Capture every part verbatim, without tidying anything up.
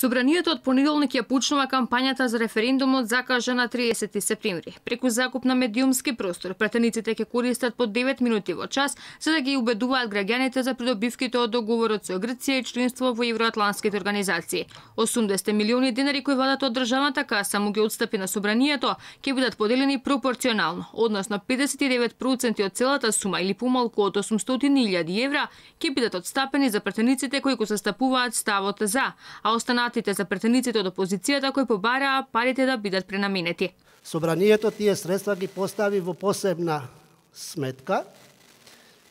Собранието од понеделник ја почнува кампањата за референдумот закажа на триесети септември. Преку закуп на медиумски простор, пратениците ќе користат по девет минути во час за да ги убедуваат граѓаните за придобивките од договорот со Грција и членство во евроатлантските организации. осумдесет милиони денари кои владата од државната каса му ги отстапи на собранието ќе бидат поделени пропорционално, односно педесет и девет проценти од целата сума или помалку од осумстотини илјади евра ќе бидат отстапени за пратениците кои го застапуваат ставот за, а останатите за претениците од опозицијата кои побараа парите да бидат пренаменети. Собранието тие средства ги постави во посебна сметка,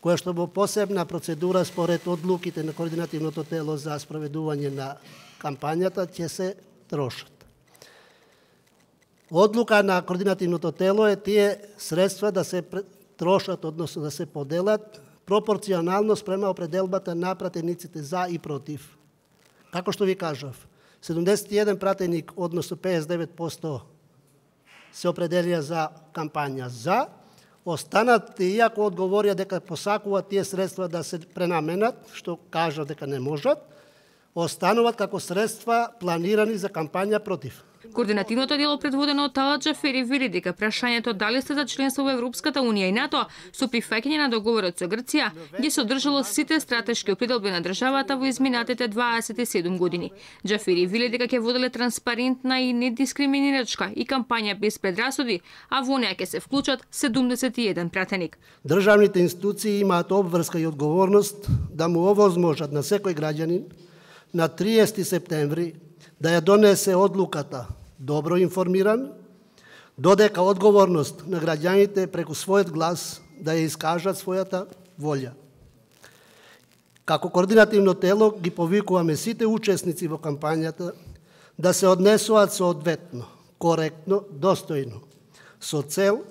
која што во посебна процедура според одлуките на координативното тело за спроведување на кампањата ќе се трошат. Одлука на координативното тело е тие средства да се трошат, односно да се поделат пропорционално спрема определбата на пратениците за и против. Како што ви кажав, седумдесет и еден пратеник, односно педесет и девет проценти се определија за кампања за, останат, иако одговорија дека посакуваат тие средства да се пренаменат, што кажа дека не можат, остануваат како средства планирани за кампања против. Координативното дело предводено од Талат Џафери вели дека прашањето дали сте за членство во Европската унија и НАТО со прифаќање на договорот со Грција ги содржало сите стратешки определби на државата во изминатите дваесет и седум години. Џафери вели дека ќе воделе транспарентна и недискриминирачка и кампања без предрасуди, а во неја ќе се вклучат седумдесет и еден пратеник. Државните институции имаат обврска и одговорност да му овозможат на секој граѓанин на триесети септември да ја донесе одлуката добро информиран, додека одговорност на граѓаните преку својот глас да ја искажат својата волја. Како координативно тело ги повикуваме сите учесници во кампањата да се однесуваат соодветно, коректно, достојно, со цел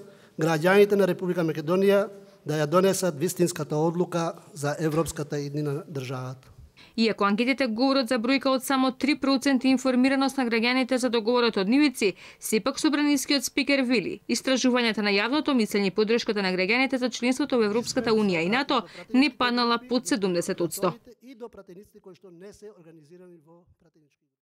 граѓаните на Република Македонија да ја донесат вистинската одлука за европската иднина на државата. Иако анкетите говорат за бројка од само три проценти информираност на граѓаните за договорот од нивици, сепак собранискиот спикер вели, истражувањата на јавното мислење и поддршката на граѓаните за членството во Европската унија и НАТО не паднала под седумдесет проценти.